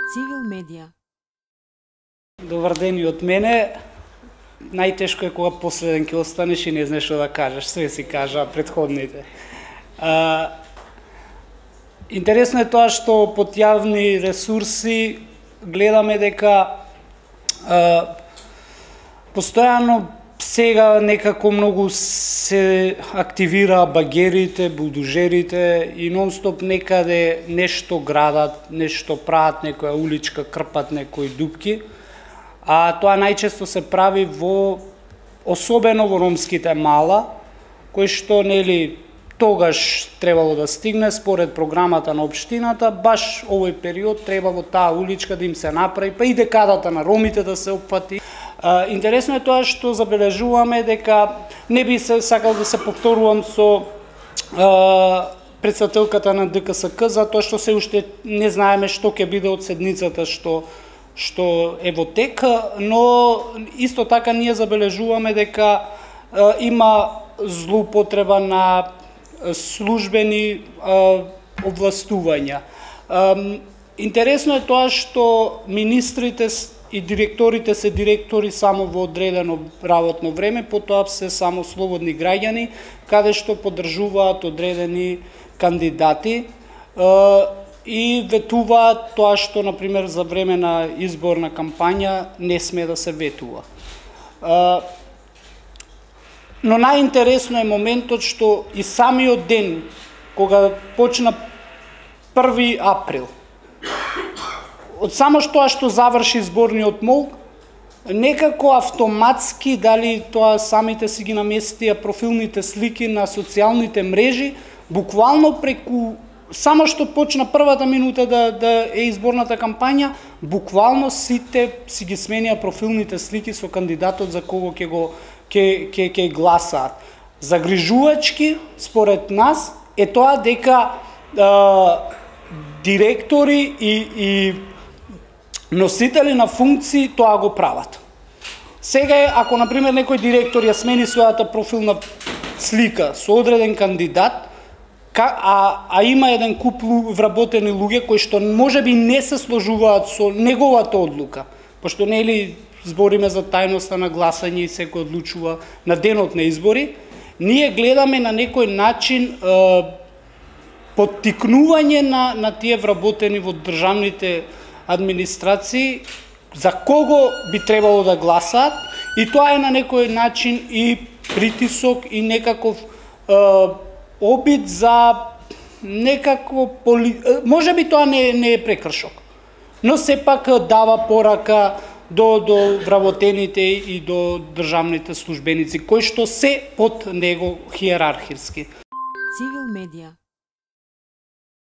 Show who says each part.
Speaker 1: Цивил медија.
Speaker 2: Добар ден и од мене. Најтешко е кога последен ќе останеш и не знаеш што да кажеш, све си кажа претходните. Интересно е тоа што под јавни ресурси гледаме дека постојано сега некако многу се активира багерите, булдужерите и нон-стоп некаде нешто градат, нешто прават, некоја уличка, крпат некои дупки. А тоа најчесто се прави особено во ромските мала, кои што нели тогаш требало да стигне според програмата на општината, баш овој период треба во таа уличка да им се направи, па и декадата на ромите да се опфати. Интересно е тоа што забележуваме дека не би се сакал да се повторувам со претседателката на ДКСК, затоа што се уште не знаеме што ќе биде од седницата што е во тек, но исто така ние забележуваме дека има злоупотреба на службени овластувања. Интересно е тоа што министрите и директорите се директори само во одредено работно време, потоа се само слободни граѓани, каде што поддржуваат одредени кандидати и ветуваат тоа што, например, за време на изборна кампања не сме да се ветува. Но најинтересно е моментот што и самиот ден, кога почна 1 април, од само тоа што заврши зборниот молк, некако автоматски, дали тоа самите си ги наместија профилните слики на социјалните мрежи, буквално преку само што почна првата минута да е изборната кампања, буквално сите си ги сменија профилните слики со кандидатот за кого ќе гласаат. Загрижувачки, според нас, е тоа дека директори и носители на функции тоа го прават. Сега ако например некој директор ја смени својата профилна слика со одреден кандидат, а има еден куп вработени луѓе кои што можеби не се сложуваат со неговата одлука, пошто нели збориме за тајноста на гласање и секој одлучува на денот на избори, ние гледаме на некој начин поттикнување на тие вработени во државните администрации за кого би требало да гласаат, и тоа е на некој начин и притисок и некаков обид за некакво можеби тоа не е прекршок, но сепак дава порака до вработените и до државните службеници кои што се под него хиерархиски.
Speaker 1: Цивил медија.